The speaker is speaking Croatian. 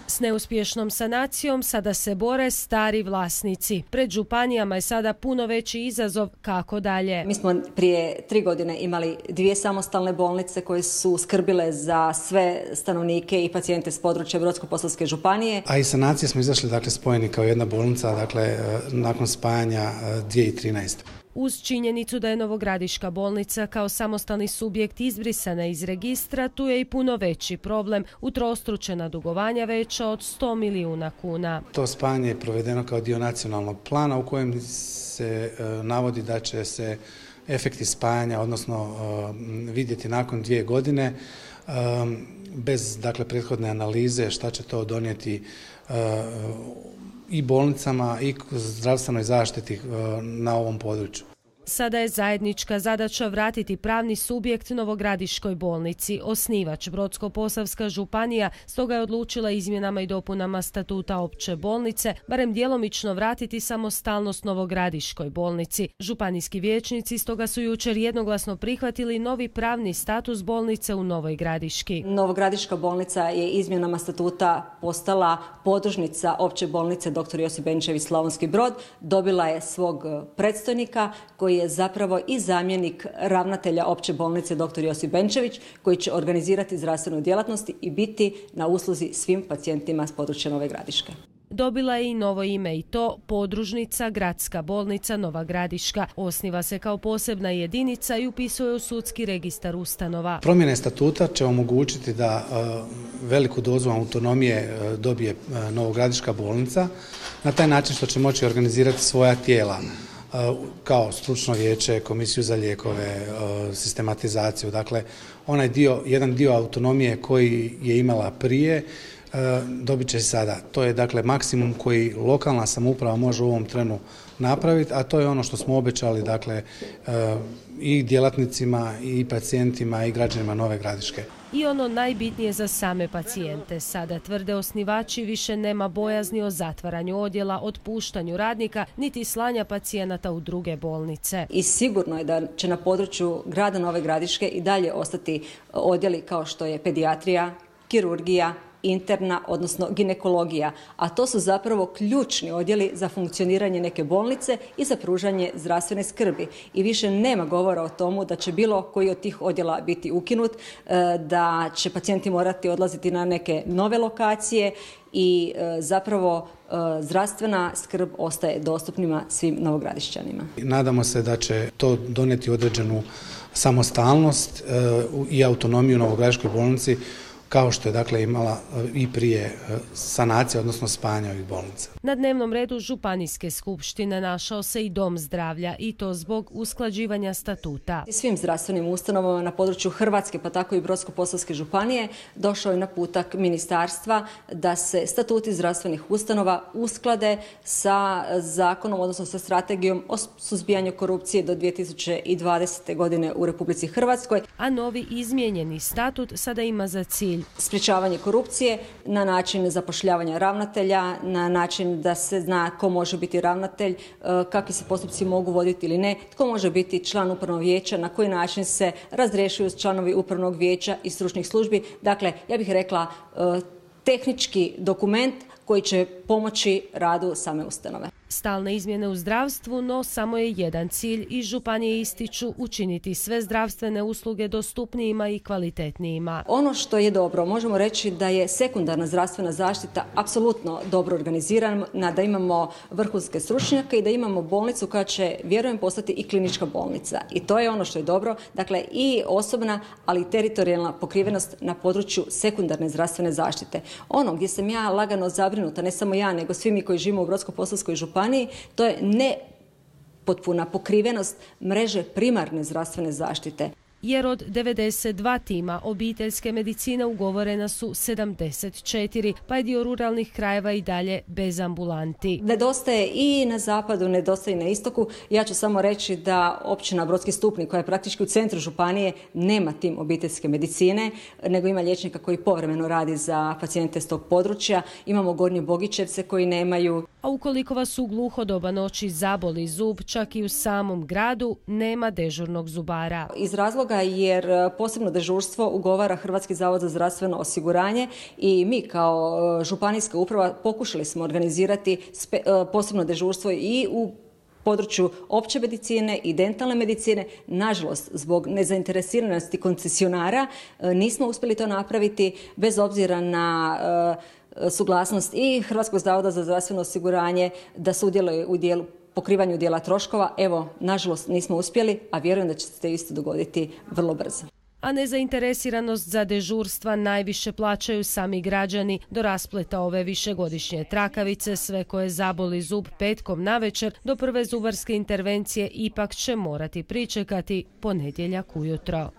S neuspješnom sanacijom sada se bore stari vlasnici. Pred županijama je sada puno veći izazov kako dalje. Mi smo prije 3 godine imali 2 samostalne bolnice koje su skrbile za sve stanovnike i pacijente s područja Brodsko-posavske županije. A iz sanacije smo izašli spojeni kao jedna bolnica nakon spajanja 2013. Uz činjenicu da je Novogradiška bolnica kao samostalni subjekt izbrisana iz registra, tu je i puno veći problem, utrostručena dugovanja veća od 100 milijuna kuna. To spajanje je provedeno kao dio nacionalnog plana u kojem se navodi da će se efekti spajanja, odnosno vidjeti nakon 2 godine, bez prethodne analize šta će to donijeti i bolnicama i zdravstvenoj zaštiti na ovom području. Sada je zajednička zadaća vratiti pravni subjekt Novogradiškoj bolnici. Osnivač Brodsko-posavska županija stoga je odlučila izmjenama i dopunama statuta opće bolnice barem djelomično vratiti samostalnost Novogradiškoj bolnici. Županijski vijećnici stoga su jučer jednoglasno prihvatili novi pravni status bolnice u Novoj Gradiški. Novogradiška bolnica je izmjenama statuta postala podružnica opće bolnice dr. Josip Benčević Slavonski Brod. Dobila je svog predstojnika koji je zapravo i zamjenik ravnatelja opće bolnice dr. Josip Benčević, koji će organizirati zdravstvenu djelatnost i biti na usluzi svim pacijentima s područja Nove Gradiške. Dobila je i novo ime i to podružnica Gradska bolnica Nova Gradiška. Osniva se kao posebna jedinica i upisuje u sudski registar ustanova. Promjene statuta će omogućiti da veliku dozu autonomije dobije Novogradiška bolnica na taj način što će moći organizirati svoja tijela kao stručno vijeće, komisiju za lijekove, sistematizaciju. Dakle, jedan dio autonomije koji je imala prije dobit će sada. To je maksimum koji lokalna samouprava može u ovom trenu napraviti, a to je ono što smo obećali i djelatnicima i pacijentima i građanima Nove Gradiške. I ono najbitnije za same pacijente. Sada, tvrde osnivači, više nema bojazni o zatvaranju odjela, otpuštanju radnika, niti slanja pacijenata u druge bolnice. I sigurno je da će na području grada Nove Gradiške i dalje ostati odjeli kao što je pedijatrija, kirurgija, interna, odnosno ginekologija, a to su zapravo ključni odjeli za funkcioniranje neke bolnice i za pružanje zdravstvene skrbi. I više nema govora o tomu da će bilo koji od tih odjela biti ukinut, da će pacijenti morati odlaziti na neke nove lokacije i zapravo zdravstvna skrb ostaje dostupnima svim Novogradišćanima. Nadamo se da će to donijeti određenu samostalnost i autonomiju Novogradiškoj bolnici, kao što je imala i prije sanacije, odnosno spajanja ovih bolnica. Na dnevnom redu Županijske skupštine našao se i Dom zdravlja i to zbog usklađivanja statuta. Svim zdravstvenim ustanovama na području Hrvatske, pa tako i Brodsko-posavske županije, došao je naputak ministarstva da se statuti zdravstvenih ustanova usklade sa zakonom, odnosno sa strategijom o suzbijanju korupcije do 2020. godine u Republici Hrvatskoj. A novi izmijenjeni statut sada ima za cilj sprječavanje korupcije na način zapošljavanja ravnatelja, na način da se zna ko može biti ravnatelj, kakvi se postupci mogu voditi ili ne, tko može biti član upravnog vijeća, na koji način se razrješuju članovi upravnog vijeća i stručnih službi. Dakle, ja bih rekla tehnički dokument koji će pomoći radu same ustanove. Stalne izmjene u zdravstvu, no samo je jedan cilj i županije ističu učiniti sve zdravstvene usluge dostupnijima i kvalitetnijima. Ono što je dobro, možemo reći da je sekundarna zdravstvena zaštita apsolutno dobro organizirana, da imamo vrhunske stručnjake i da imamo bolnicu koja će, vjerujem, postati i klinička bolnica. I to je ono što je dobro, dakle i osobna, ali i teritorijalna pokrivenost na području sekundarne zdravstvene zaštite. Ono gdje sam ja lagano zabrinuta, ne samo ja, nego svi mi koji živimo u Brodsko-posavskoj županiji, to je nepotpuna pokrivenost mreže primarne zdravstvene zaštite. Jer od 92 tima obiteljske medicine ugovorena su 74, pa je dio ruralnih krajeva i dalje bez ambulanti. Nedostaje i na zapadu, nedostaje i na istoku. Ja ću samo reći da općina Brodski Stupnik, koja je praktički u centru županije, nema tim obiteljske medicine, nego ima liječnika koji povremeno radi za pacijente s tog područja. Imamo Gornje Bogićevce koji nemaju. A ukoliko vas u gluho doba noći zaboli zub, čak i u samom gradu nema dežurnog zubara. Iz razloga jer posebno dežurstvo ugovara Hrvatski zavod za zdravstveno osiguranje i mi kao županijska uprava pokušali smo organizirati posebno dežurstvo i u području opće medicine i dentalne medicine. Nažalost, zbog nezainteresiranosti koncesionara nismo uspjeli to napraviti bez obzira na suglasnost i Hrvatskog zavoda za zdravstveno osiguranje da sudjeluje u pokrivanju dijela troškova. Evo, nažalost nismo uspjeli, a vjerujem da će se isto dogoditi vrlo brzo. A nezainteresiranost za dežurstva najviše plaćaju sami građani. Do raspleta ove višegodišnje trakavice sve koje zaboli zub petkom navečer do prve zubarske intervencije ipak će morati pričekati ponedjeljak ujutro.